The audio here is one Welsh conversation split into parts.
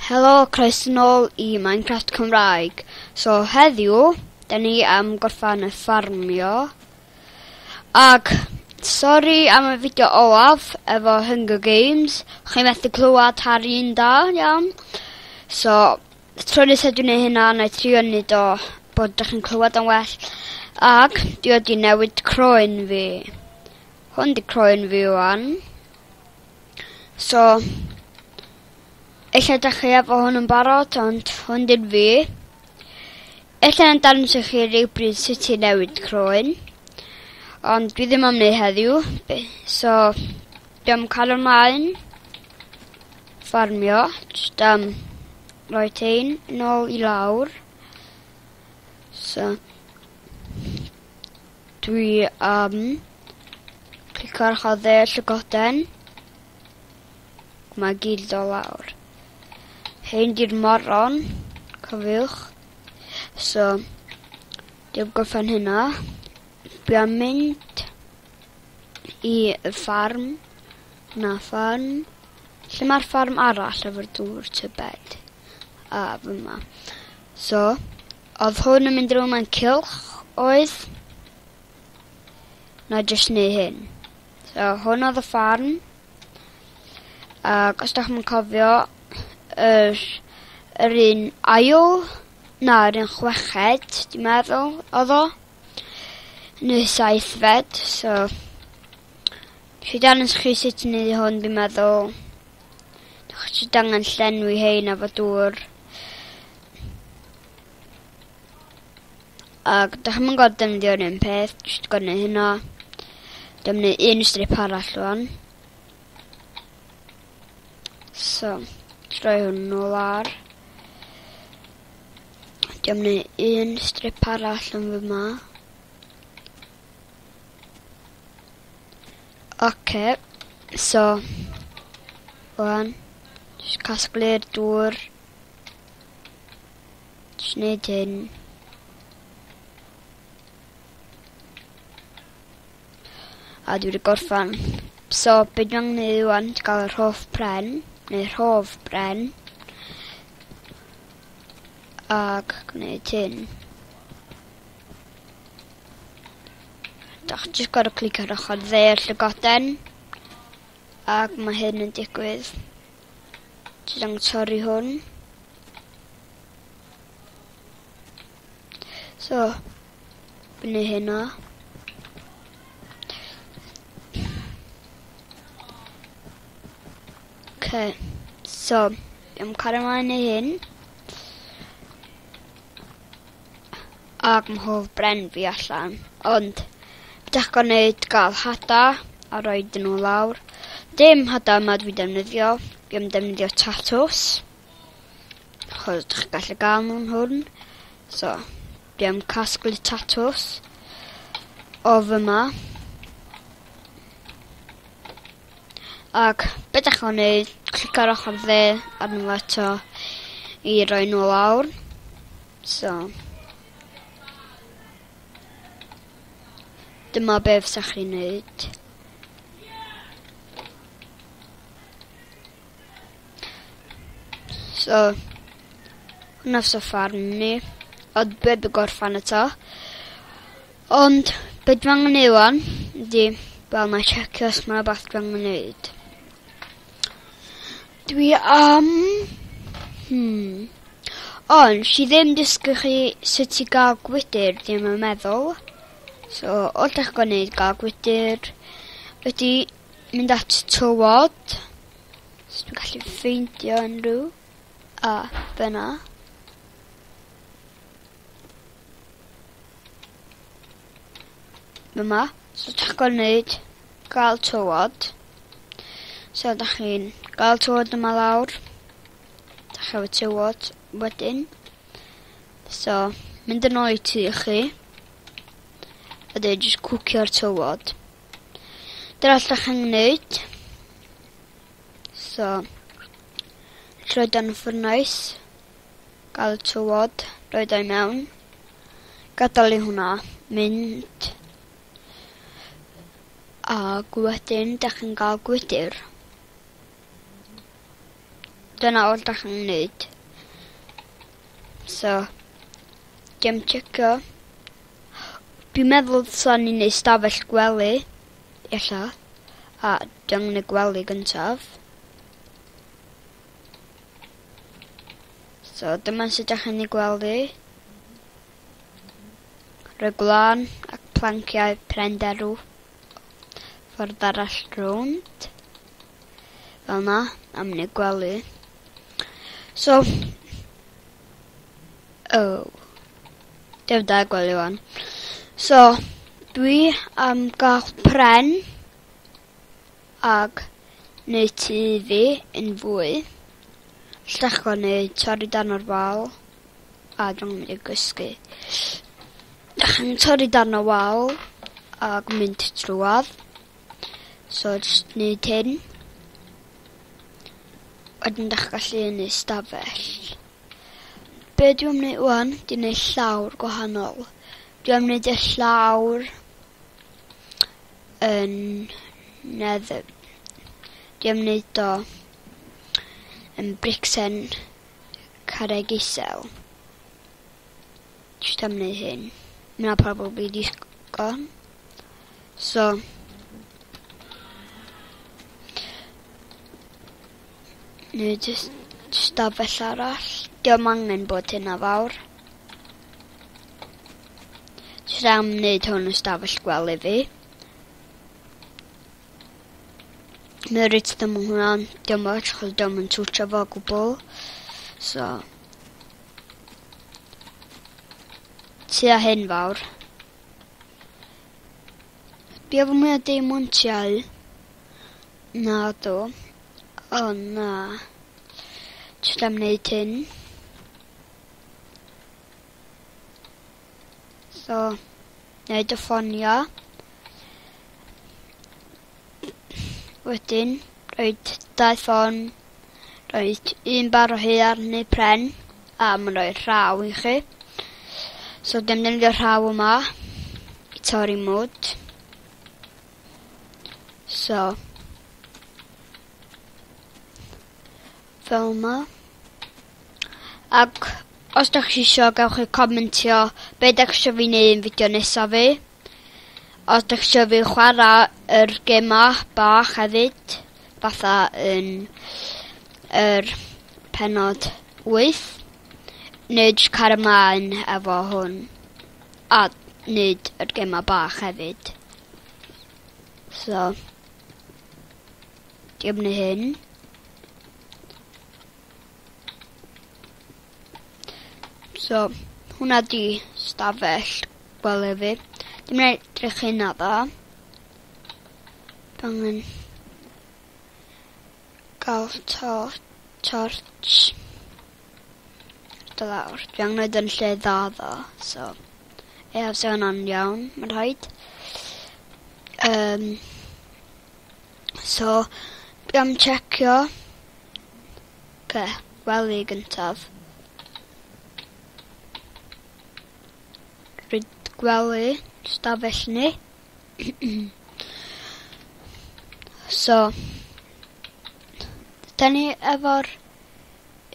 Helo, croeso nôl i Minecraft Cymraeg. So heddiw, da ni am gorffan y ffarmio. Ac, sori am y fideo olaf efo Hunger Games. Chi'n methu clywed Harry'n da, iawn. So, tro nesaf dwi'n neud hynna, na i trio neud o bod ydych chi'n clywed yn well. Ac, dwi wedi newid croen fi. Hwn di croen fi wan. So, ella dach chi efo hwn yn barod, ond hwn di'n fi. Ella yn dangos i chi rhywbryd sut i newid croen. Ond dwi ddim am wneud heddiw. So, dwi am cael ymlaen. Ffarmio. Jyst am roi tein nôl i lawr. So, dwi am clicio ar ochr dde llygoden. Mae gyd o lawr. Hein di'r moron, cofiwch. So, dwi'n gorffen hynna. Dwi am mynd i y ffarm. Na ffarm. Lle mae'r ffarm arall efo'r dŵr tybed? A, fyma. So, oedd hwn yn mynd rownd mewn cylch, oedd? Na jyst neu hyn. So, hwn oedd y ffarm. Ac os da chi'n cofio, yr, yr un ail, na, yr un chweched, dwi'n meddwl, oedd o. Neu saithfed, so... Nes i dangos chi sut i wneud hwn, dwi'n meddwl. Dych chi angen llenwi hein efo dŵr. Ac dych chi'n gorfod defnyddio'r un peth, jyst gorfod neud hynna. Dwi'n mynd un strip arall rwan. So, troi hwn nôl ar. Dwi'n mynd un strip arall yn fyma. Oce, so, rwan, jyst casglu'r dŵr. Jyst neud hyn. A dwi wedi gorffan. So, be dwi'n angen neud rwan, ti gael yr hoff pren, neu rhof bren. Ac gwneud hyn. Dach jyst gorfod clicio ar ochr dde y llygoden. Ac mae hyn yn digwydd. Jyst angen torri hwn. So, fyny hynna. Okay, so, am cario ymlaen i hyn. Ac mae hoff bren fi allan. Ond, beth ydych gwneud gael hada a rhoi nhw lawr. Dim hada yma dwi defnyddio. Dwi am defnyddio tatws. Achos ydych chi'n gallu gael nhw'n hwn. So, dwi am casglu tatws o fyma. Ac be ydych chi'n gwneud, clicio ar ochr dde arno fo eto i roi nhw lawr. So, dyma be fysa chi'n neud. So, hwnna fysa ffarm ni. Ond be by gorffan eto. Ond, be dwi angen neud wan, ydi, wel, na checio os mae rhywbeth dwi angen neud. Dwi am... Ond, si ddim dysgu chi sut i gael gwydr, ddim yn meddwl. So, all ydych chi'n gwneud gael gwydr ydy mynd at tywod. So, dwi'n gallu ffeindio unrhyw. A, fyna. Fyma. So, ydych chi'n gwneud gael tywod. So, ydych chi'n gael tywod yma lawr. Ydych chi efo tywod wedyn. So, mynd yn ôl i tŷ chi. A dweud jyst cwcio'r tywod. Dyna all chi'n gwneud. So, rhoi dan y ffwrnais. Gael y tywod, rhoi o i mewn. Gadael i hwnna mynd. Ac wedyn, dach chi'n gael gwydr. Dyna oll da chi'n neud. So, dim checio. Dwi'n meddwl dylsa ni neud stafell gwely. Ella. A dwi'n neud gwely gyntaf. So, dyma sut da chi'n ei gwely. Rhoi gwlân ac planciau pren derw ffordd arall rownd. Fel na, am wneud gwely. So, oh, dim da gwely wan. So, dwi am gael pren ag neud tŷ fi yn fwy. Llachio neu torri dan o'r wal. A dwi'n mynd i gysgu. Dach chi'n torri dan y wal ag mynd trwadd. So, just neud hyn. Wedyn dach gallu neud stafell. Be dwi'n am neud wan, dwi'n neud llawr gwahanol. Dwi'n am neud y llawr yn nether. Dwi'n am neud o yn bricsen carreg isel. Just am neud hyn. Mae 'na probably digon. So, neu jyst stafell arall. Dio'm angen bod hynna fawr. Jyst am wneud hwn yn stafell gwely fi. Mae reit ddim yn hwnna, dio'm ots, achos dio'm yn twtio fo o gwbl. So, tua hyn fawr. Dwi efo mwy o deimontiau. Na do. O na. Jyst am wneud hyn. So, wneud y ffonio. Wedyn, rhoid dau ffon, rhoid un bar o haearn neu pren, a mae'n rhoi rhaw i chi. So, dim defnyddio rhaw yma i torri mwd. So, fel yma. Ac os da chi isio, gewch chi comentio be da chi isio fi wneud yn fideo nesaf fi. Os da chi isio fi chwarae yr gema bach hefyd, fatha yn yr penod 8, neu jyst cario ymlaen efo hwn, a wneud yr gema bach hefyd. So, dim neu hyn. So, hwnna di stafell gwely fi. Dim yn edrych hynna dda. Dwi angen gael torch. Do lawr. Dwi angen neud yn lle dda ddo. So, ie, so hwnna'n iawn, mae'n rhaid. So, dwi am checio. Oce, gwely gyntaf. Rhaid gwely, stafell ni. So, da ni efo'r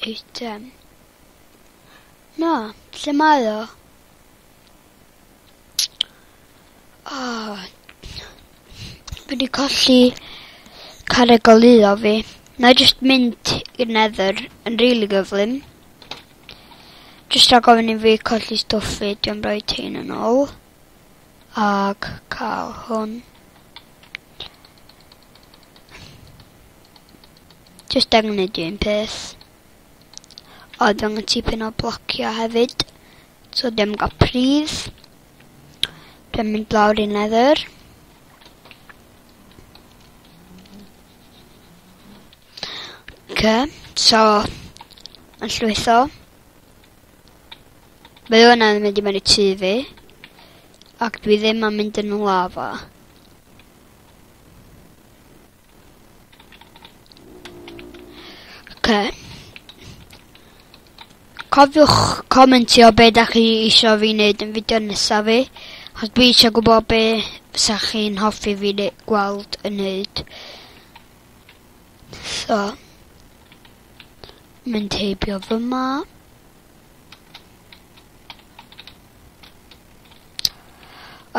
eitem. Na, lle mae o? Oh, dwi wedi colli carreg goleuo fi. Na i jyst mynd i'r Nether yn rili gyflym. Jyst rhag ofyn i fi colli stwff fi, dwi'n rhoi hyn yn ôl. Ag cael hwn. Jyst angen neud un peth. O, dwi angen tipyn o blociau hefyd. So dim gael pridd. Dwi'n mynd lawr i Nether. Okay, so, yn llwytho. Mae hwnna'n mynd i mewn i tŷ fi. Ac dwi ddim yn mynd yn lava. Okay. Cofiwch comentio be da chi isio fi wneud yn fideo nesaf fi. Achos dwi eisiau gwybod be fysa chi'n hoffi fi gweld yn neud. So. Mynd heibio fyma.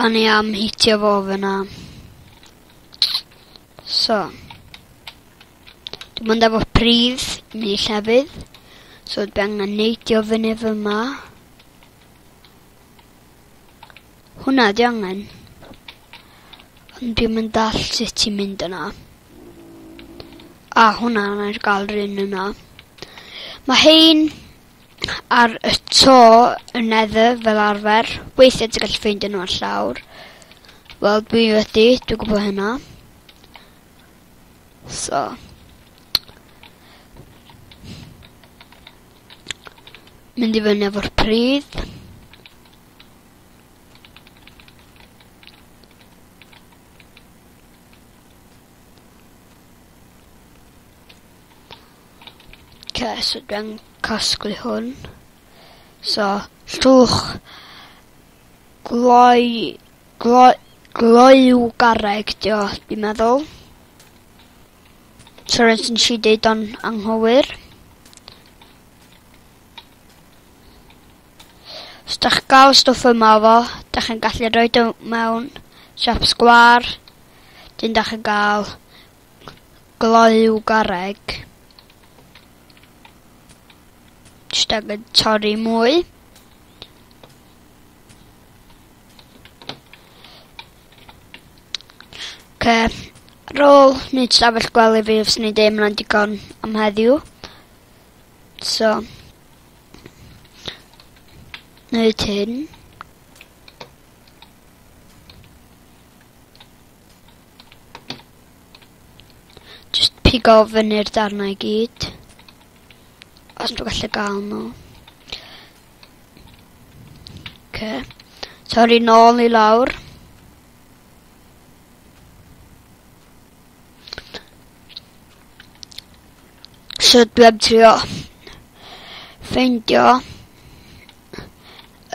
O'n i am hitio fo fyna. So. Dwi'n mynd efo pridd i mynd i llefydd. So dwi angen neidio fyny fyma. Hwnna di angen. Ond dwi'n mynd dall sut ti'n mynd yna. A hwnna na'r gael rhan yna. Mae hein ar y to yn Nether fel arfer. Weithiau ti'n gallu ffeindio nhw ar llawr. Wel, dwi wedi, dwi'n gwybod hynna. So. Mynd i fyny efo'r pridd. Okay, so dwi'n casglu hwn. So, llwch gloi, gloi, gloyw garreg, dio, dwi'n meddwl. Sorry os nes i deud o'n anghywir. Os dach chi'n gael stwff yma fo, dach chi'n gallu rhoi o mewn siap sgwâr. Dyn dach chi'n gael gloyw garreg. Jyst angen torri mwy. Oce, ar ôl wneud stafell gwely fi, fyswn i'n deud mae'n digon am heddiw. So, wneud hyn. Just pigo fyny'r darnau i gyd. Os dwi'n gallu gael nhw. Okay. Torri nôl i lawr. So dwi am trio ffeindio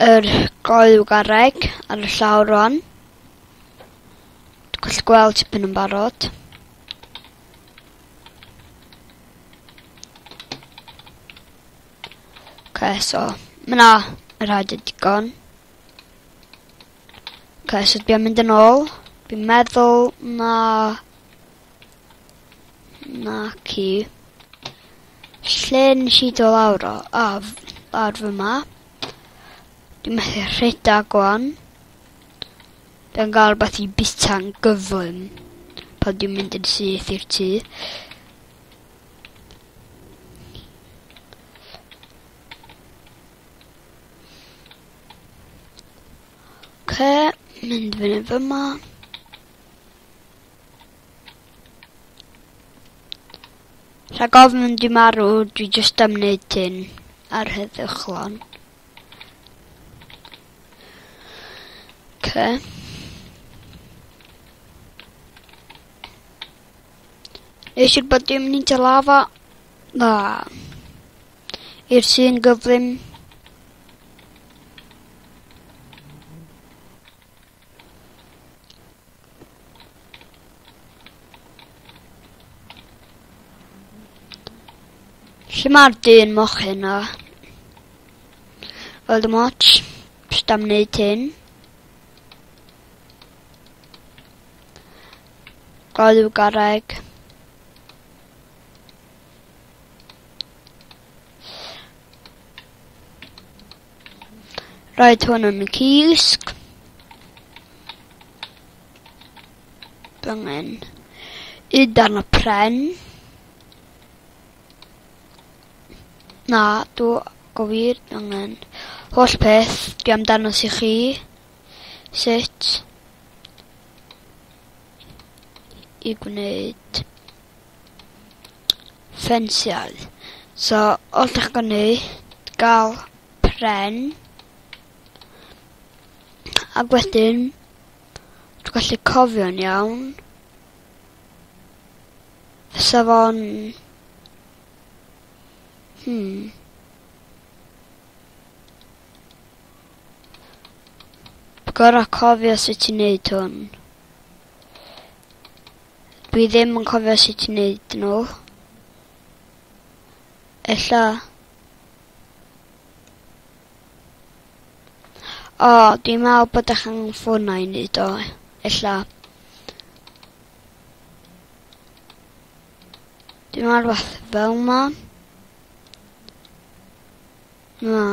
yr goyw garreg ar y llawr rwan. Dwi'n gallu gweld tipyn yn barod. Okay, so, mae na y rhaid y digon. Okay, so dwi'n mynd yn ôl. Dwi'n meddwl na... Na ci. Lle nes i dod lawr o? A, lawr fyma. Dwi'n methu rhedeg gwan. Dwi'n gael rhywbeth i bita'n gyflym pan dwi'n mynd yn syth i'r tŷ. Oce, mynd fyny fyma. Rhag ofn dwi marw, dwi jyst am wneud hyn ar heddychlon. Oce. Nes siŵr bod dim mynd i lava. Na. I'r sy'n gyflym. Lle mae'r dyn mochyn na? Wel, dim ots. Jyst am wneud hyn. Galw garreg. Roed hwn yn y cysg. Angen un darn o pren. Na, dw go wir angen holl peth dwi am danos i chi sut i gwneud ffensiau. So, all ydych chi'n gwneud, gael pren, ac wedyn, dwi'n gallu cofio'n iawn, fysa fo'n, Gorau cofio sut i wneud hwn. Dwi ddim yn cofio sut i wneud nhw. Ella. O, dwi'n meddwl bod eich angen ffwrna i wneud o. Ella. Dwi'n meddwl rhywbeth fel ma. Na.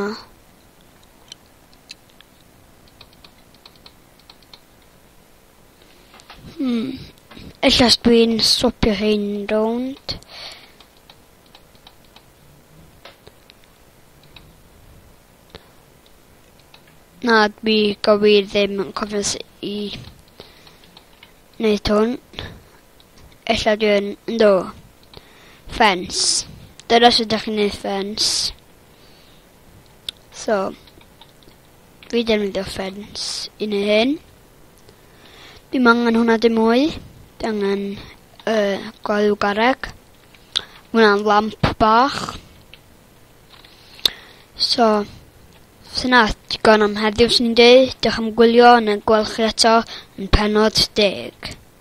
Ella os dwi'n swapio hein rownd. Na, dwi gywir ddim yn cofio sut i wneud hwn. Ella dwi'n, ynddo, ffens. Dyna sut ydych chi'n gwneud ffens. So, dwi defnyddio ffens i wneud hyn. Dwi'n angen hwnna dim mwy. Dwi angen gwely garreg. Hwnna'n lamp bach. So, syna digon am heddiw, swn i'n dweud. Diolch am gwylio, yn y gweld chi eto yn pennod 10.